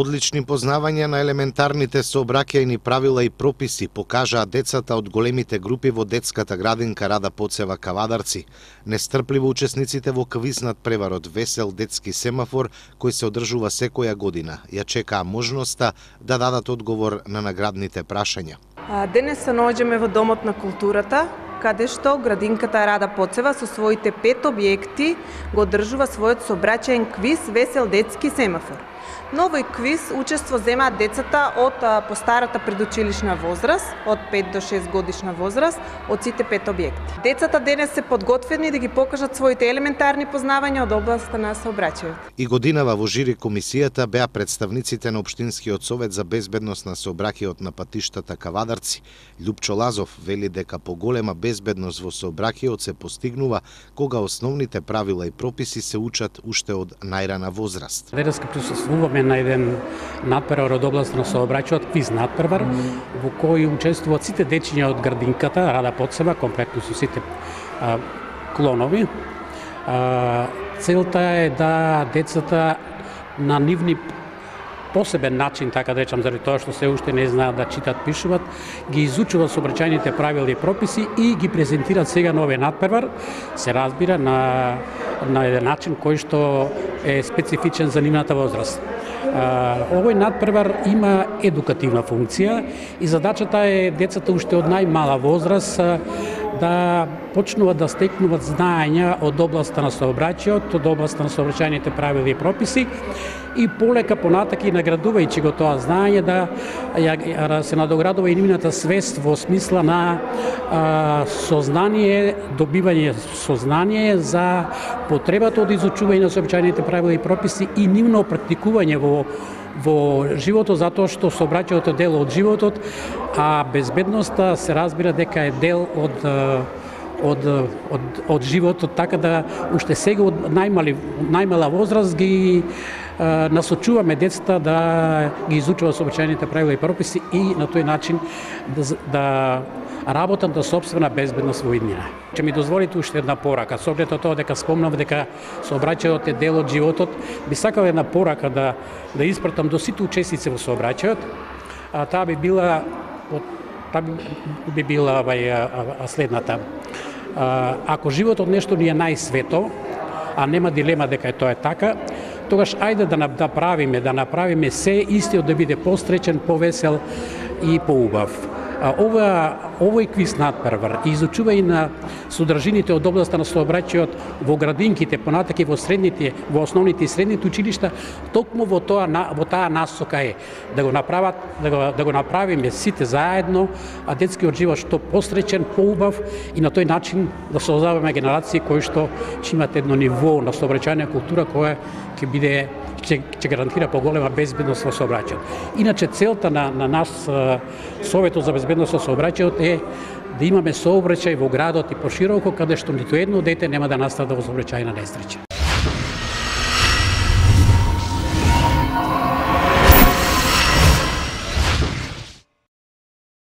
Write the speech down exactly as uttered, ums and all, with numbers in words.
Одлични познавања на елементарните сообраќајни правила и прописи покажаа децата од големите групи во детската градинка Рада Поцева Кавадарци. Нестрпливо учесниците во квиз над преварот Весел детски семафор, кој се одржува секоја година, ја чекаа можноста да дадат одговор на наградните прашања. Денес се наоѓаме во Домот на културата, каде што градинката Рада Поцева со своите пет објекти го одржува својот сообраќајен квиз Весел детски семафор. Но овој квиз учество земаат децата од постарата предучилишна возраст, од пет до шест годишна возраст, од сите пет објекти. Децата денес се подготвени да ги покажат своите елементарни познавања од областа на сообраќајот. И годинава во жири комисијата беа представниците на Општинскиот совет за безбедност на сообраќајот на патиштата Кавадарци. Љупчо Лазов вели дека поголема безбедност во сообраќајот се постигнува кога основните правила и прописи се учат уште од најрана возраст. Денеска присуствуваме на еден надпревар од област на сообраќајот, квиз надпревар, во кој учествуваат сите дечиња од градинката Рада Поцева, комплетно со сите а, клонови. А, целта е да децата на нивни посебен начин, така да речам, заради тоа што се уште не знаат да читат, пишуваат, ги изучуваат сообраќајните правила и прописи и ги презентираат сега на овој надпревар, се разбира, на, на еден начин кој што е специфичен за нивната возраст. Овој надпревар има едукативна функција и задачата е децата уште од најмала возраст да почнуваат да стекнуваат знаења од областа на сообраќајот, од областа на сообраќајните правила и прописи и полека понатака и наградувајќи го тоа знаење да ја, се надоградува и нивната свест во смисла на а, сознание, добивање сознание за потребата од изучување на сообраќајните правила и прописи и нивно практикување во во животот, затоа што сообраќајот е дел од животот, а безбедноста се разбира дека е дел од од од од животот, така да уште сега од најмали најмала возраст ги а, насочуваме децата да ги изучуваат сообраќајните правила и прописи и на тој начин да, да работат на сопствена безбедност во иднина. Ќе ми дозволите уште една порака, со оглед тоа дека спомнав дека сообраќајот е дел од животот, би сакал една порака да да испратам до сите учесници во сообраќајот. А таа би била таа би, би била вај, следната. А, ако животот нешто ни е најсвето, а нема дилема дека е тоа е така, тогаш ајде да направиме, да направиме се истиот да биде постречен, повесел и поубав. Ова, овој квиз надпревар и изучување на содржините од областа на сообраќајот во градинките, понатака и во средните, во основните и средните училишта, токму во тоа во таа насока е да го направат, да го, да го направиме сите заедно, а детскиот живот што постречен, поубав и на тој начин да создаваме генерации кои што ќе имат едно ниво на сообраќајна култура која ќе биде ќе, ќе гарантира поголема безбедност во сообраќајот. Иначе целта на на наш Советот за безбедност во сообраќајот е да имаме сообраќај во градот и пошироко, каде што ниту едно дете нема да настада во сообраќајна несреќа.